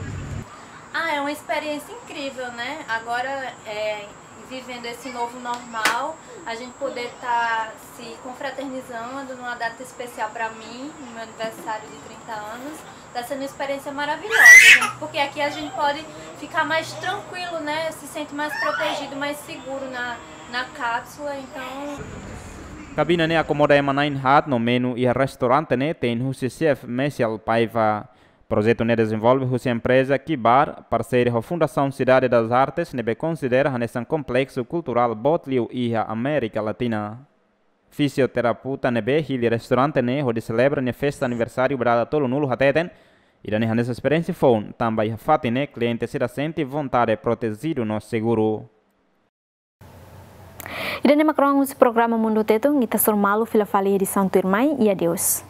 Ah, é uma experiência incrível, né? Agora, é, vivendo esse novo normal, a gente poder tá se confraternizando numa data especial pra mim, no meu aniversário de trinta anos, tá sendo uma experiência maravilhosa, gente, porque aqui a gente pode ficar mais tranquilo, né? Se sente mais protegido, mais seguro na, na cápsula, então. Kabina ne'e akomoda ema na'in haat no menu iha restaurante ne'e tein husi xefe Messiel Paiva. Projetu ne'e dezenvolve husi empreza Kibar, parseria ho Fundasaun Cidade das Artes, ne'ebé konsidera hanesan kompleksu kulturál boot liu iha Amérika Latina. Fisioterapeuta ne'ebé hili restaurante ne'e hodi selebra nia festa aniversáriu ba dala tolunulu hateten, ida-ne'e hanesan esperiénsia foun tanba iha fatin ne'e kliente sira sente vontade, protejidu no seguru. Ida-ne'e mak rohan husi programa Mundu Tetun, ita hasoru malu fila fali edisaun tuirmai, i adeus.